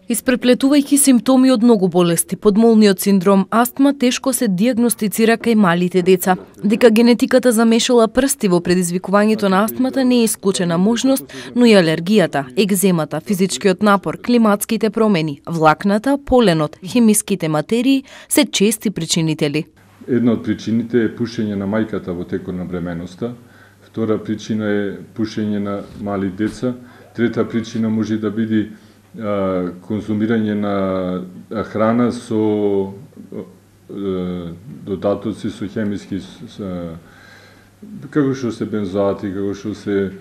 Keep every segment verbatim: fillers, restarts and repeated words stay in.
Испреплетувајќи симптоми од многу болести, подмолниот синдром астма тешко се дијагностицира кај малите деца. Дека генетиката замешала прсти во предизвикувањето на астмата не е исклучена можност, но и алергијата, екземата, физичкиот напор, климатските промени, влакната, поленот, хемиските материи се чести причинители. Една од причините е пушење на мајката во текот на бременоста, втора причина е пушење на мали деца, трета причина може да биде конзумирање на храна со додатоци, со хемиски, како што се бензоати, како што се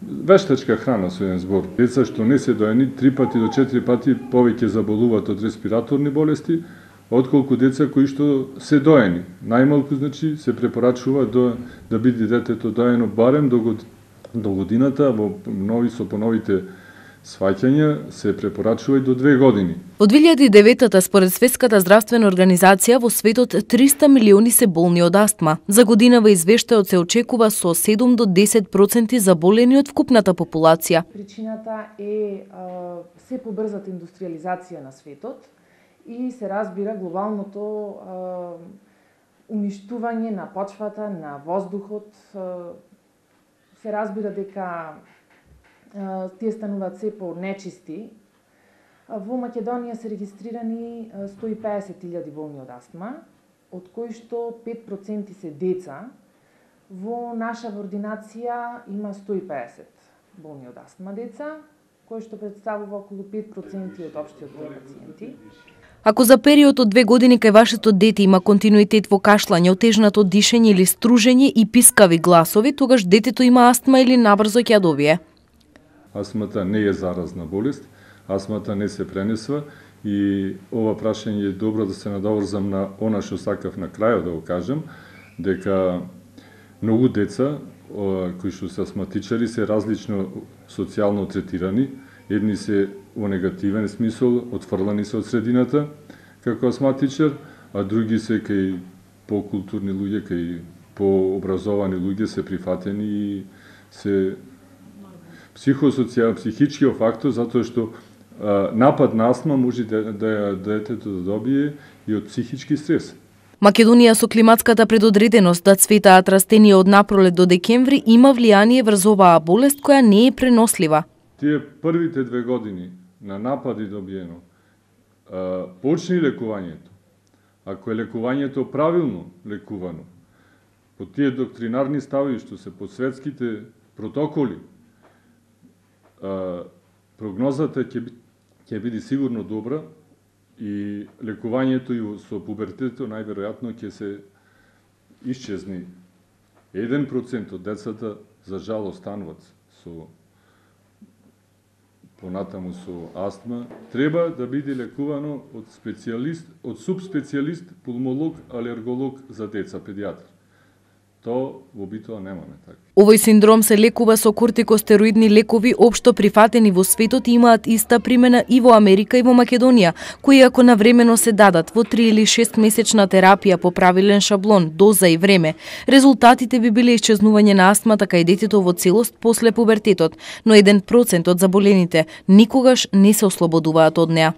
вештачка храна со еден збор. Деца што не се доени, три пати до четири пати повеќе заболуваат од респираторни болести, отколку деца кои што се доени. Најмалку, значи, се препорачува до, да биде детето доено барем до, до годината, во нови со поновите сваќања се препорачува и до две години. Од две илјади и деветта според Светската здравствена организација во светот триста милиони се болни од астма. За годинава извештајот се очекува со седум до десет проценти заболени од вкупната популација. Причината е а, се побрзата индустриализација на светот и се разбира глобалното а, уништување на почвата, на воздухот. А, се разбира дека тие стануваат се по нечисти. Во Македонија се регистрирани сто и педесет илјади болни од астма, од кои што пет проценти се деца. Во наша ординација има сто и педесет болни од астма деца, кои што представува околу пет проценти од општиот број пациенти. Ако за период од две години кај вашето дете има континуитет во кашлање, отежнато дишење или стружење и пискави гласови, тогаш детето има астма или набрзо ќе ја добие. Астмата не е заразна болест, астмата не се пренесва и ова прашање е добро да се надоврзам на она што сакав на крајот да го кажам, дека многу деца кои што се астматичари се различно социјално третирани. Едни се во негативен смисол, отфрлани се од средината како астматичар, а други се кај покултурни луѓе, кај пообразовани луѓе се прифатени и се психосоцијал, психичкиот фактор, затоа што а, напад на астма може да, да детето да добие и од психички стрес. Македонија со климатската предодреденост да цветаат растенија од напролет до декември има влијание врз оваа болест која не е пренослива. Тие првите две години на напади добиено, а, почни лекувањето. Ако е лекувањето правилно лекувано, по тие доктринарни стави што се по светските протоколи, Uh, прогнозата ќе би, ќе биде сигурно добра и лекувањето и со пубертетот најверојатно ќе се исчезни. еден процент од децата за жал остануваат со понатаму со астма, треба да биде лекувано од специјалист, од субспецијалист, пулмолог, алерголог за деца, педијатар. То во битоа немаме така. Овој синдром се лекува со кортикостероидни лекови општо прифатени во светот и имаат иста примена и во Америка и во Македонија, кои ако навремено се дадат во три или шест месечна терапија по правилен шаблон, доза и време, резултатите би биле исчезнување на астмата кај детето во целост после пубертетот, но еден процент од заболените никогаш не се ослободуваат од неа.